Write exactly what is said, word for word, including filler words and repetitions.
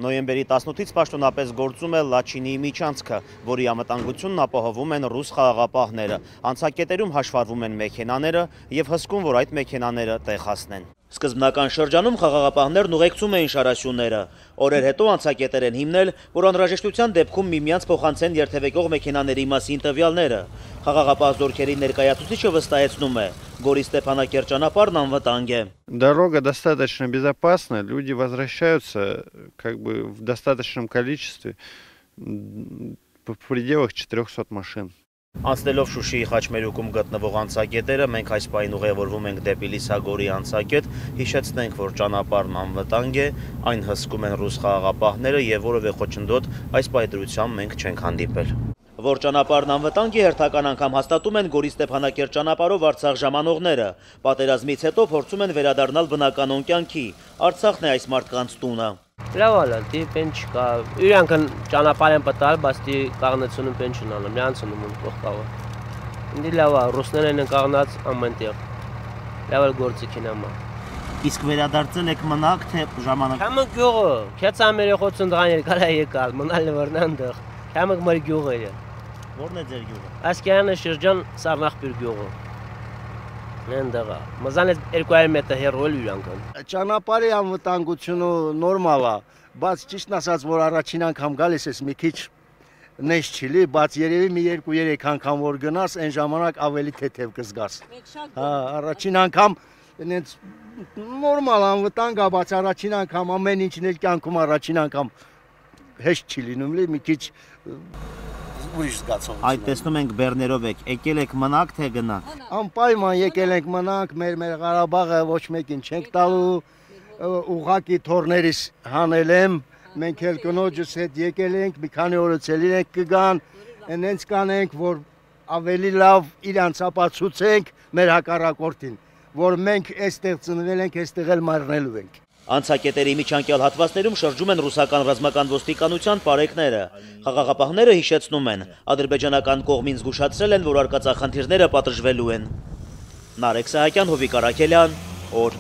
Նոյեմբերի տասնութից պաշտոնապես գործում է Լաչինիի միջանցքը, որի անվտանգությունն ապահովում են ռուս խաղաղապահները։ Անցակետերում հաշվառվում են մեքենաները և հսկում, որ այդ մեքենաները տեղ հասնեն։ Սկզբնական շրջանում խաղաղապահներն ուղեկցում էին շարասյունները։ Օրեր հետո անցակետեր են հիմնել, որ անհրաժեշտության դեպքում միմյանց փոխանցեն երթևեկող մեքենաների մասին տվյալները։ Խաղաղապահ զորքերի ներկայացուցիչը վստահեցնում է, Գորի Ստեփանակերտ ճանապարհն անվտանգ է։ Дорога достаточно безопасна, люди возвращаются как бы в достаточном количестве, в пределах четырёхсот машин. Անցնելով Շուշիի խաչմերուկում գտնվող անցակետերը, մենք այս պահին ուղևորվում ենք դեպի Լիսագորի անցակետ, հիշեցնենք, որ ճանապարհն անվտանգ է, այն հսկում են ռուս խաղաղապահները և որևէ խոչընդոտ այս պահի դրությամբ մենք չենք հանդիպել։ Որ ճանապարհն անվտանգ է, հերթական անգամ հաստատում են Գորի Ստեփանակերտ ճանապարհով Արցախ ժամանողները։ Պատերազմից հետո փորձում են վերադառնալ բնականոն կյանքի։ Արցախն է այս մարդկանց տունը։ Լավ է, դի պեն չկա։ Իրանք ճանապարհ են պատալ, բայց դի կաղնեցնում պեն չունեն, միանցնում են փոխկավը։ Դի լավ է, ռուսներն են կաղնած ամենտեղ։ Լավ է գործիքին ամա։ Իսկ վերադարձել եք մնաք, թե ժամանակ։ Քամը գյուղը, քեծ ամերիխոցն դղան երկալա եկալ, մնալ վրնանդեղ։ Քամը մր գյուղը է։ Որն է ձեր գյուղը։ Ասկյանը շրջան Սառնախբյուր գյուղը։ Նենդեղա։ Մզանից երկու հարյուր մետր հեռու իրանքն։ Ճանապարհի անվտանգությունը նորմալ է, բայց ճիշտն ասած, որ առաջին անգամ գալիս ես մի քիչ նես չիլի, բայց երևի մի երկու երեք անգամ որ գնաս, այն ժամանակ ավելի թեթև կզգաս։ Հա, առաջին անգամ այնց նորմալ անվտանգ է, բայց առաջին անգամ ամեն ինչն էլ կյանքում առաջին անգամ հեշտ չի լինում, լի մի քիչ ուրիշ զգացողություն։ Այդ տեսնում ենք բեռներով եք, եկել եք մնաք, թե գնաք։ Անպայման եկել ենք մնանք, մեր մեր Ղարաբաղը ոչ մեկին չենք տալու, ուղղակի թորներիս հանել եմ, մենք էլ կնոջս հետ եկել ենք, մի քանի օրից էլ իրենք կգան, այնց կանենք, որ ավելի լավ իրանց ապացուցենք մեր հակառակորդին, որ մենք այստեղ ծնվել ենք, այստեղ էլ մեռնելու ենք։ Անցակետերի միջանկյալ հատվածներում շրջում են ռուսական ռազմական ոստիկանության պարեկները։ Խաղաղապահները հիշեցնում են, ադրբեջանական կողմին զգուշացրել են, որ արկածախնդիրները պատժվելու են։ Նարեկ Սահակյան, Հովիկ Արաքելյան, օր